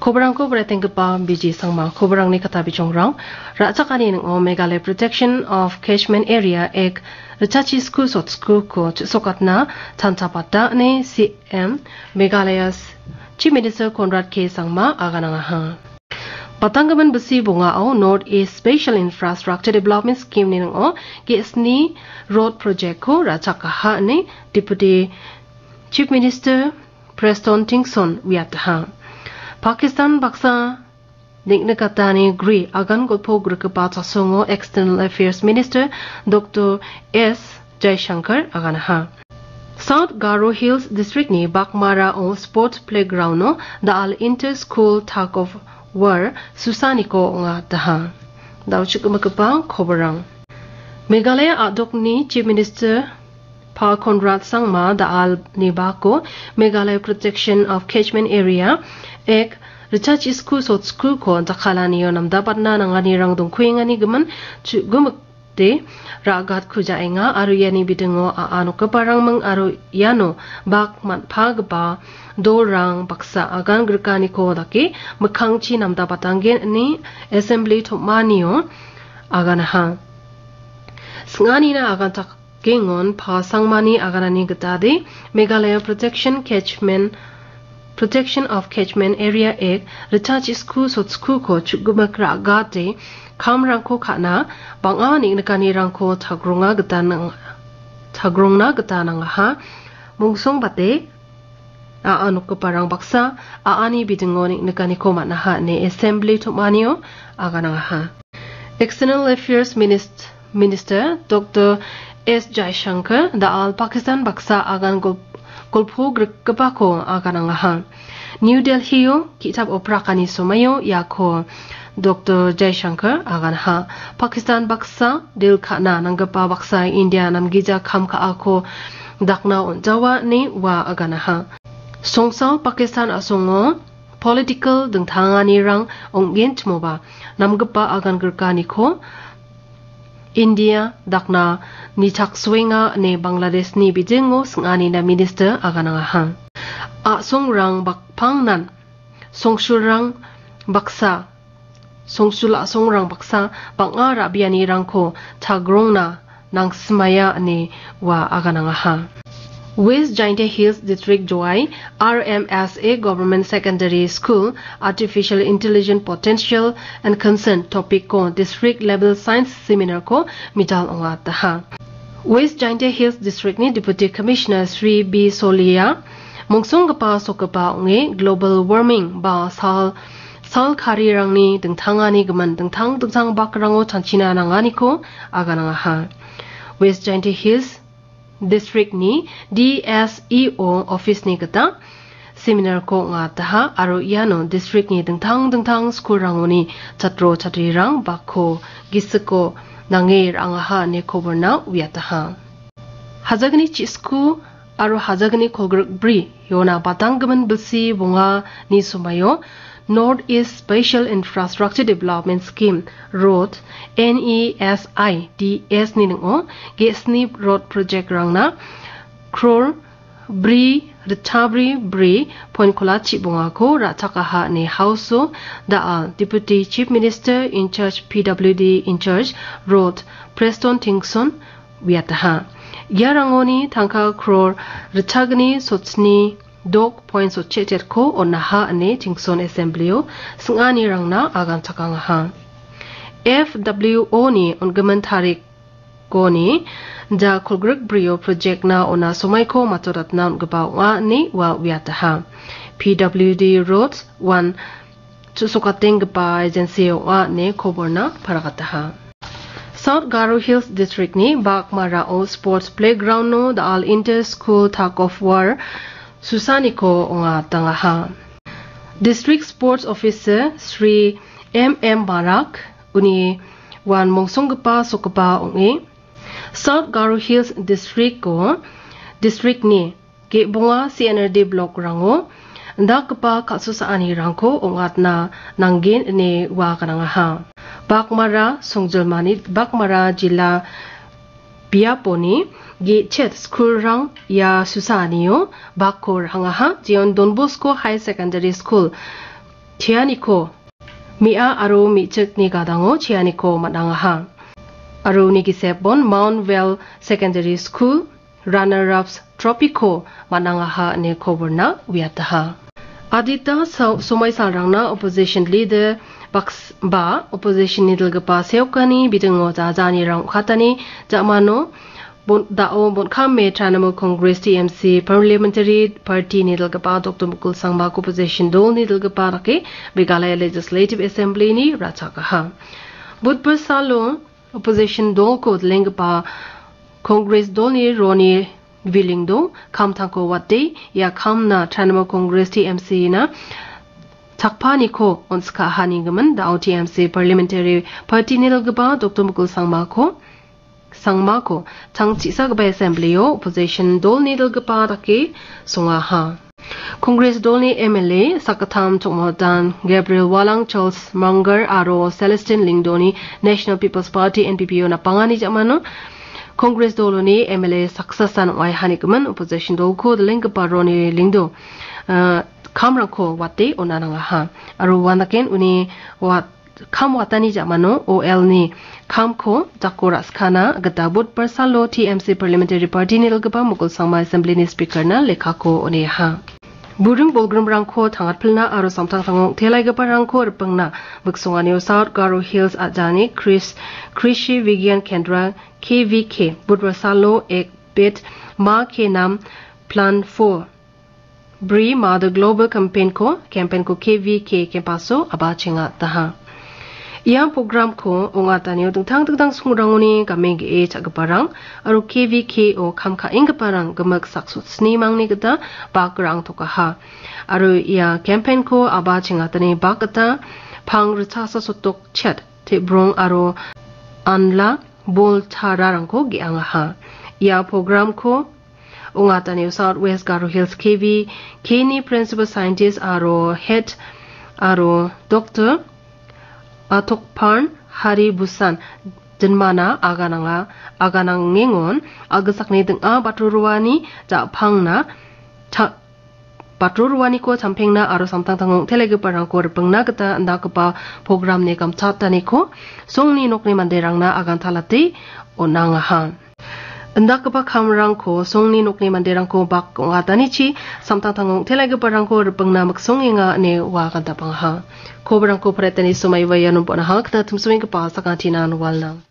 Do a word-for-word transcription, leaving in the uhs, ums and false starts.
Koborangko bretenggipa biji sangma koborangni kata bijongrang. Ra·chakani ning·o Meghalaya Protection of Catchment Area Act richachi sku sotskuko chu·sokatna tanta pata ine C M Meghalaya Chief Minister Conrad K Sangma aganangaha. Batanggimin bisi bongao North East Special Infrastructure Development Scheme ni ning·o ge·sni road project-ko ra·chakaha ine Deputy Chief Minister Preston Tynsong uiataha. Pakistan baksa neng·nikatani gri agan golpo grikgipa chasongo External Affairs Minister Doctor S Jaishankar aganaha. South Garo Hills District-ni Bakmarao Sports Playground-o da·al Inter School Tug of War susaniko ong·ataha. Dao chikgimitgipa koborang. Meghalaya a·dokni Chief Minister Pa Conrad Sangma da·alni bako Meghalaya Protection of Catchment Area Act richachi sku sotskuko jakkalanio namdabatna nanganirang dongkuengani gimin chu·gimik de ra·gatkujaenga aro iani bidingo a·a nokgiparangming aro iano bak man·pagipa dolrang baksa agan grikaniko dake mikkangchi namdabatanggen ine Assembly tom·anio aganaha. Sing·anina agantakengon Pa Sangmani aganani gitade Meghalaya Protection Catchment Protection of Catchment Area Act richachi sku sotskuko chu·gimik ra·gate kamrangko ka·na bang·a neng·nikanirangko tagronga gita nang-, tagrongna gita nangaha. Mongsongbate a·a nokgiparang baksa a·ani bidingo neng·nikaniko man·aha ine Assembly tom·anio aganangaha. External Affairs Minist-, Minister Doctor S Jaishankar da·al Pakistan baksa agan gol-, golpo grikgipako aganangaha. New Delhi-o ki·tap oprakani somaio iako Doctor Jaishankar aganaha. Pakistan baksa dil ka·na nanggipa baksa India namgija kam ka·ako dakna on·jawa ine ua aganaha. Songsal Pakistan a·songo political dingtanganirang ong·genchimoba namgipa agan grikaniko India dakna nichaksoenga ine Bangladeshni bidingo sing·anina minister aganangaha. A·songrang bakpangnan songsulrang baksa, songsul a·songrang baksa bang·a ra·bianirangko chagrongna nangsimaya ine ua aganangaha. West Jaintia Hills District Jowai R M S A Government Secondary School Artificial Intelligence Potential and Concern topic-ko district level science seminar-ko mital ong·ataha. West Jaintia Hills District-ni Deputy Commissioner Sri B Solia mongsonggipa sokgipa ong·e global warming ba sal, sal karirangni dingtangani gimin dingtang dingtang bakrango chanchina nanganiko aganangaha. West Jaintia Hills District-ni D S E O office-ni gita seminar-ko ong·ataha aro iano district-ni dingtang dingtang school-rangoni chatro chatrirang bakko gisiko nange ra·angaha ine koborna uiataha. Hajagni chisku aro hajagni kolgrik bri iona batanggimin bilsi bongani somaio North East Special Infrastructure Development Scheme, road, N E S I D S ni ning·o ge·sni road project-rangna crore bri ritchabri bri point kolachi bongako ra·chakaha ine House-o da·al Deputy Chief Minister in charge P W D in charge road Preston Tynsong uiataha. Iarangoni tangka crore ritchagni sotsni dok point sotchetchetko on·aha ine Tynsong Assembly-o sing·anirangna aganchakangaha. F W O-ni on·gimin tarikoni ja kolgrik brio project-na on·a somaiko matodatna on·gipa ong·a ine ua uiataha. P W D Road one chu·sokatenggipa agency ong·a ine koborna paragataha. South Garo Hills District-ni Bakmarao Sports Playground-o da·al Inter School Tug of War susaniko ong·atangaha. District Sports Officer Sri M M Barak uni uan mongsonggipa sokgipa ong·e, South Garo Hills District-o district-ni ge·bonga C N R D block-rango indakgipa kal·susaanirangko ong·atna nanggen ine ua ganangaha. Bakmara songjilmani, Bakmara jila biaponi ge·chet school-rang ia susaanio bakko ra·angaha, jeon Don Bosco High Secondary School cheaniko, me·a aro me·chikni gadango cheaniko man·angaha. Aro uni gisepon Mount Well Secondary School runner-ups trophy-ko man·angaha ine koborna uiataha. Adita sau-, somaisalrangna opposition leader baks-, ba opposition-ni dilgipa seokani bidingo jajanirang ong·katani ja·mano bon-, dao bon·kame Trinamool Congress, T M C, Parliamentary Party-ni dilgipa Doktor Mukul Sangma opposition dolni dilgipa dake Meghalaya Legislative Assembly-ni ra·chakaha. Budbar salo opposition dolko dilenggipa Congress dolni Ronnie Vilingdong kamtangko wate ia kamna Trinamool Congress, T M C-na chakpaniko on·sikaha nigimin dao T M C Parliamentary Party-ni dilgipa Doktor Mukul Sangmako, Sangmako tang chisagipa Assembly-o opposition dolni dilgipa dake songaha. Congress dolni M L A sakgittam Chokmodan Gabriel Walang, Charles Munger aro Celestine Lyngdoh-ni National People's Party, N P P-o napangani ja·mano Congress doloni M L A saksasan ong·aiha nigimin opposition dolko dilenggipa Ronnie Vilingdong, ah, kamrangko wate on·a nangaha. Aro uanaken uni wat-, kam watani ja·mano O L-ni kamko jako ra·skana gita Budbar salo T M C Parliamentary Party-ni dilgipa Mukul Sangma Assembly-ni Speaker-na lekkako on·eha. Buring bolgrimrangko tangatpilna aro samtangtango ong·telaigiparangko ripengna miksonganio South Garo Hills a·jani Kris-, Krishi Vigyan Kendra, K V K, Budbar salo ek bet ma ke nam plan four Bri Mother Global Campaign-ko, campaign-ko K V K campus-o abachenga daha. Ia program-ko ong·atanio dingtang dingtang songrangoni game ge·e cha·giparang aro K V K-o kam ka·enggiparang gimik saksotni mangni gita bakrang tokaha. Aro ia campaign-ko abachengatani bak gita pang ritchasa sotok chet, tebrong aro anla bol tararangko ge·angaha. Ia program-ko ong·atanio South West Garo Hills K V K-ni Principal Scientist aro Head aro Doktor Atokparn Hari Busan dinmana agananga, aganangengon a·gisakni ding·a batro roani ja·pangna ta-, batro roaniko champengna aro samtangtango ong·telegiparangko ripengna gita indakgipa programni gamchataniko songni nokni manderangna agantalate on·angaha. Indakgipa kamrangko songni nokni manderangko bak ong·atanichi samtangtango ong·telegiparangko ripengna miksongenga ine ua gantapangaha. Kobarangko paretani somaiba iano bon·aha gita timsoenggipa sakantinan walnang.